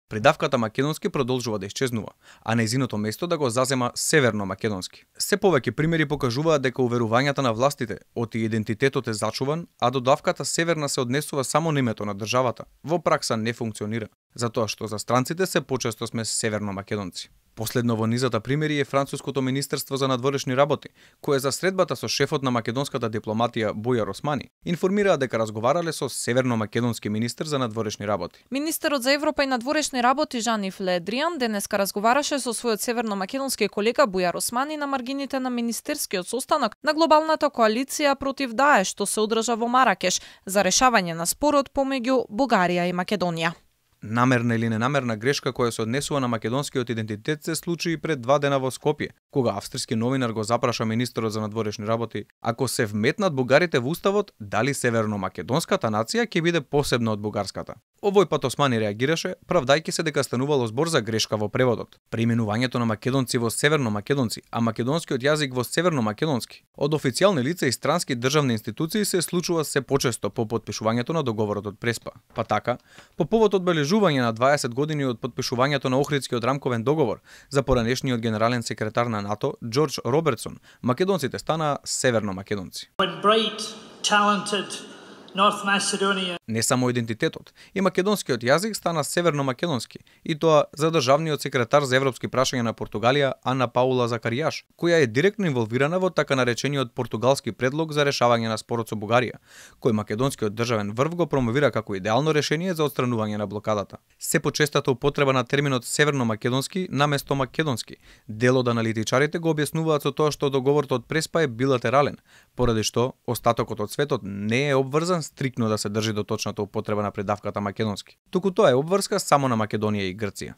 Придавката македонски продолжува да исчезнува, а нејзиното место да го зазема северно македонски. Се повеќе примери покажуваат дека уверувањата на властите оти идентитетот е зачуван, а додавката северна се однесува само на името на државата. Во пракса не функционира, затоа што за странците се почесто сме северно македонци. Последно во низата примери е француското министерство за надворешни работи, кое за средбата со шефот на македонската дипломатија Бујар Османи информираа дека разговарале со северно-македонски министер за надворешни работи. Министерот за Европа и надворешни работи Жан-Ив Le Drian денеска разговараше со својот северно-македонски колега Бујар Османи на маргините на министерскиот состанок на глобалната коалиција против Даеш што се одржа во Маракеш за решавање на спорот помеѓу Бугарија и Македонија. Намерна или ненамерна грешка која се однесува на македонскиот идентитет се случи и пред 2 дена во Скопје, кога австрийски новинар го запраша министерот за надворешни работи ако се вметнат бугарите во уставот, дали северно-македонската нација ќе биде посебна од бугарската. Овој пат Османи реагираше, правдајќи се дека станувало збор за грешка во преводот. Преименувањето на македонци во северно-македонци, а македонскиот јазик во северно-македонски. Од официјални лица и странски државни институции се случува се почесто по потпишувањето на договорот од Преспа. Па така, по повод одбележување на 20 години од потпишувањето на Охридскиот рамков договор за поранешниот генерален секретар на НАТО Џорџ Робертсон, македонците станаа северно-македонци. Не само идентитетот, и македонскиот јазик стана северно-македонски, и тоа за државниот секретар за европски прашања на Португалија Ана Паула Закаријаш, која е директно инволвирана во така наречениот португалски предлог за решавање на спорот со Бугарија, кој македонскиот државен врв го промовира како идеално решение за отстранување на блокадата. Се почестата употреба на терминот северно-македонски наместо македонски. Дел од аналитичарите го објаснуваат со тоа што договорот од Преспа е билатерален, поради што остатокот од светот не е обврзан стриктно да се држи до точната употреба на придавката македонски. Туку тоа е обврска само на Македонија и Грција.